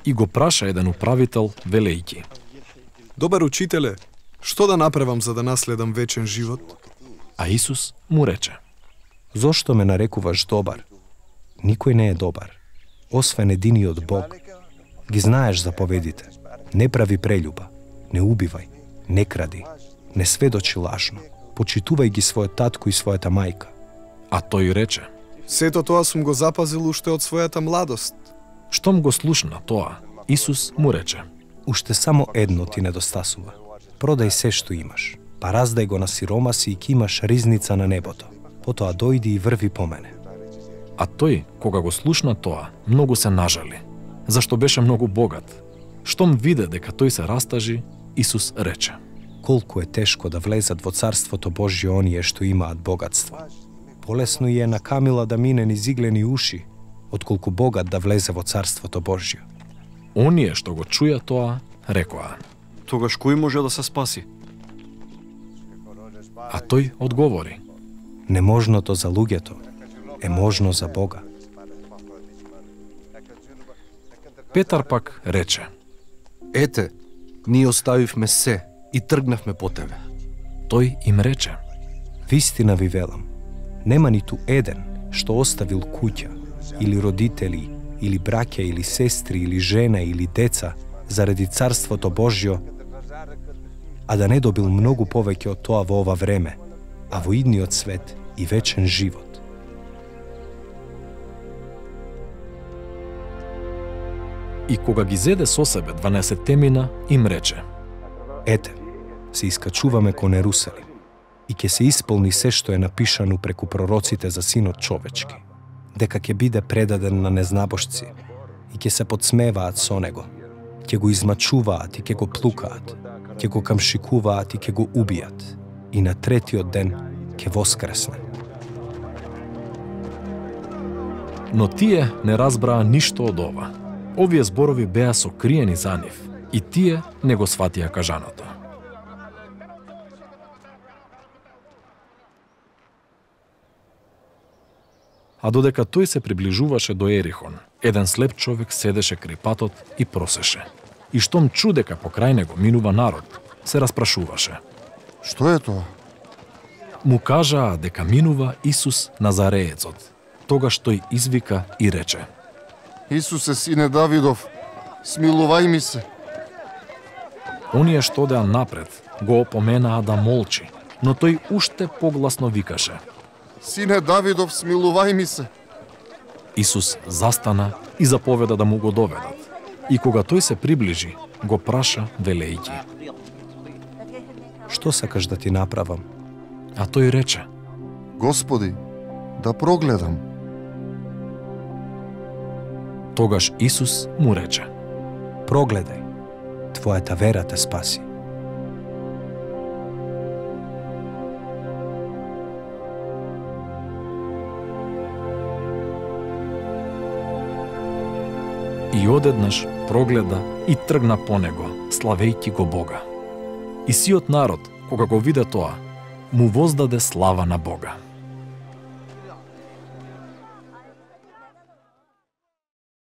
И го праша еден управител, велејќи: Добар учителе, што да направам за да наследам вечен живот? А Исус му рече: Зошто ме нарекуваш добар? Никој не е добар, освен единиот Бог. Ги знаеш заповедите. Не прави прелюба, не убивај, не кради, не сведочи лажно, почитувај ги својот татко и својата мајка. А тој рече: Сето тоа сум го запазил уште од својата младост. Штом го слушна тоа, Исус му рече: Уште само едно ти недостасува. Продај се што имаш, па раздај го на сиромаси и ќе имаш ризница на небото. Потоа дојди и врви по мене. А тој, кога го слушна тоа, многу се нажали, зашто беше многу богат. Штом виде дека тој се растажи, Исус рече: Колку е тешко да влезат во Царството Божје оние што имаат богатство. Полесно и е на камила да мине низ иглени уши, отколку богат да влезе во Царството Божје. Оние што го чуја тоа, рекоа: Тогаш кој може да се спаси? А тој одговори: Неможното за луѓето е можно за Бога. Петар пак рече: Ете, ние оставивме се и тргнавме по тебе. Тој им рече: Вистина ви велам, нема ниту еден што оставил куќа, или родители, или браќа, или сестри, или жена, или деца, заради Царството Божјо, а да не добил многу повеќе од тоа во ова време, а во идниот свет и вечен живот. И кога ги зеде со себе 12-темина, им рече: Ете, се искачуваме кон Ерусалим и ќе се исполни се што е напишано преку пророците за Синот човечки, дека ќе биде предаден на незнабожци и ќе се подсмеваат со него, ќе го измачуваат и ќе го плукаат, ќе го камшикуваат и ќе го убијат, и на третиот ден ќе воскресне. Но тие не разбраа ништо од ова. Овие зборови беа сокриени за нив, и тие не го сватија кажаното. А додека тој се приближуваше до Ерихон, еден слеп човек седеше крај патот и просеше. И штом чу дека покрај него минува народ, се распрашуваше: Што е тоа? Му кажаа дека минува Исус Назареецот. Тогаш тој извика и рече: Исусе, сине Давидов, смилувај ми се. Оние што одеа напред го опоменаа да молчи, но тој уште погласно викаше: Сине Давидов, смилувај ми се. Исус застана и заповеда да му го доведат. И кога тој се приближи, го праша велејќи: Што сакаш да ти направам? А тој рече: Господи, да прогледам. Тогаш Исус му рече: Прогледај, твојата вера те спаси. И одеднаш прогледа и тргна по него, славејќи го Бога. И сиот народ, кога го виде тоа, му воздаде слава на Бога.